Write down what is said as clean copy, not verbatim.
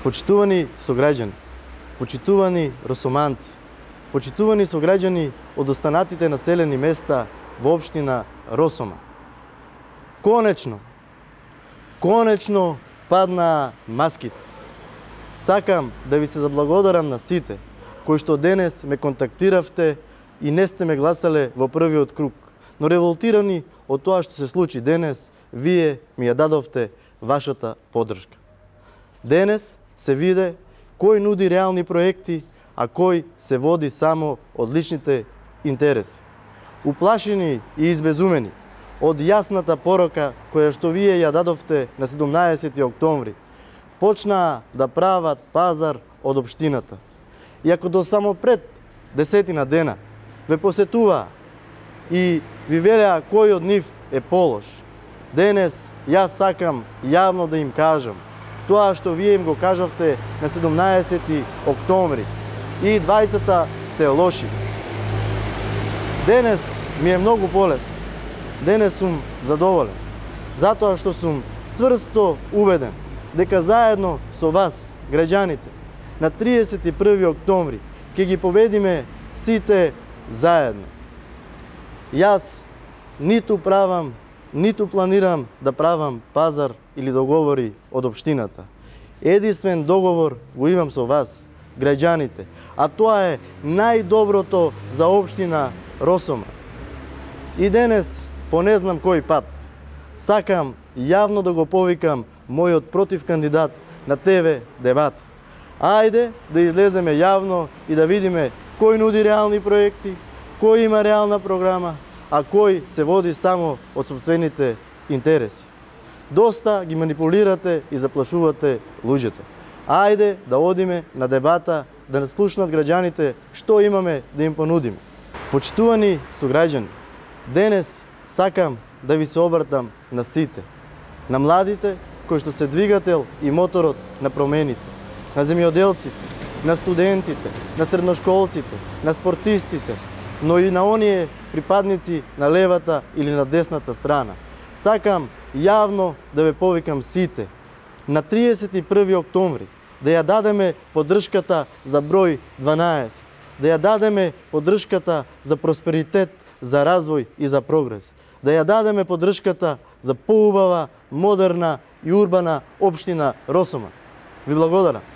Почитувани сограѓани, почитувани росоманци, почитувани сограѓани од останатите населени места во општина Росома. Конечно паднаа маските. Сакам да ви се заблагодарам на сите кои што денес ме контактиравте и не сте ме гласале во првиот круг, но револтирани од тоа што се случи денес, вие ми ја дадовте вашата поддршка. Денес се виде кој нуди реални проекти, а кој се води само од личните интереси. Уплашени и избезумени од јасната порока која што вие ја дадовте на 17 октомври, почнаа да прават пазар од општината. И ако до само пред 10 дена ве посетуваа и ви велеа кој од нив е полош, денес јас сакам јавно да им кажам тоа што вие им го кажавте на 17 октомври. И двајцата сте лоши. Денес ми е многу полесно. Денес сум задоволен. Затоа што сум цврсто убеден дека заедно со вас, граѓаните, на 31 октомври ќе ги победиме сите заедно. Јас ниту правам, ниту планирам да правам пазар или договори од општината. Единствен договор го имам со вас, граѓаните, а тоа е најдоброто за општина Росома. И денес, по не знам кој пат, сакам јавно да го повикам мојот против кандидат на ТВ дебат. Ајде да излеземе јавно и да видиме кој нуди реални проекти, кој има реална програма, а кој се води само од сопствените интереси. Доста ги манипулирате и заплашувате луѓето. Ајде да одиме на дебата, да не слушнат граѓаните што имаме да им понудиме. Почитувани сограѓани, денес сакам да ви се обратам на сите, на младите кои што се двигател и моторот на промените, на земјоделците, на студентите, на средношколците, на спортистите, но и на оние припадници на левата или на десната страна. Сакам јавно да ве повикам сите на 31 октомври да ја дадеме поддршката за број 12, да ја дадеме поддршката за просперитет, за развој и за прогрес, да ја дадеме поддршката за поубава, модерна и урбана општина Росома. Ви благодарам.